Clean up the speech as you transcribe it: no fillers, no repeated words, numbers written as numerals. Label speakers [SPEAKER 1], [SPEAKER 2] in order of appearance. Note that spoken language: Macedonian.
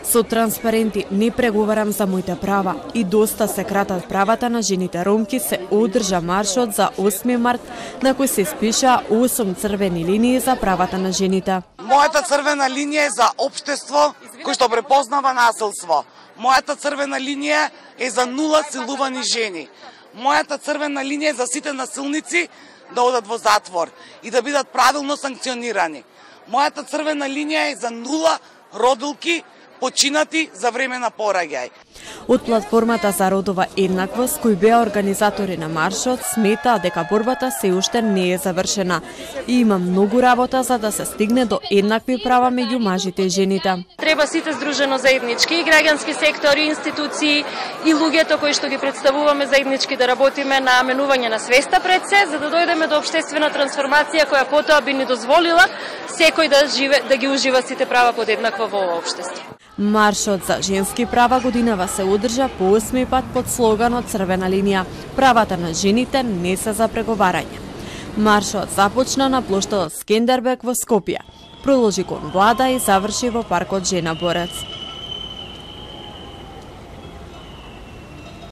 [SPEAKER 1] Со транспаренти не преговарам за моите права и доста се кратат правата на жените ромки се одржа маршот за 8 март на кој се спишаа 8 црвени линии за правата на жените.
[SPEAKER 2] Мојата црвена линија е за општество кој што препознава насилство. Мојата црвена линија е за нула силувани жени. Мојата црвена линија е за сите насилници да одат во затвор и да бидат правилно санкционирани. Мојата црвена линија е за нула родилки починати за време на пораѓај.
[SPEAKER 1] Од платформата за родова еднаквост, кои беа организатори на маршот, сметаа дека борбата се уште не е завршена и има многу работа за да се стигне до еднакви права меѓу мажите и жените.
[SPEAKER 3] Треба сите здружено заеднички, и граѓански сектори, институции и луѓето кои што ги представуваме заеднички да работиме на менување на свеста пред се, за да дојдеме до општествена трансформација која потоа би ни дозволила секој да ги ужива сите права подеднакво во ова општество.
[SPEAKER 1] Маршот за женски права годинава се одржа по 8 пат под слоганот Црвена линија. Правата на жените не се за преговарање. Маршот започна на плоштадот Скендербег во Скопје, продолжи кон влада и заврши во паркот Жена Борец.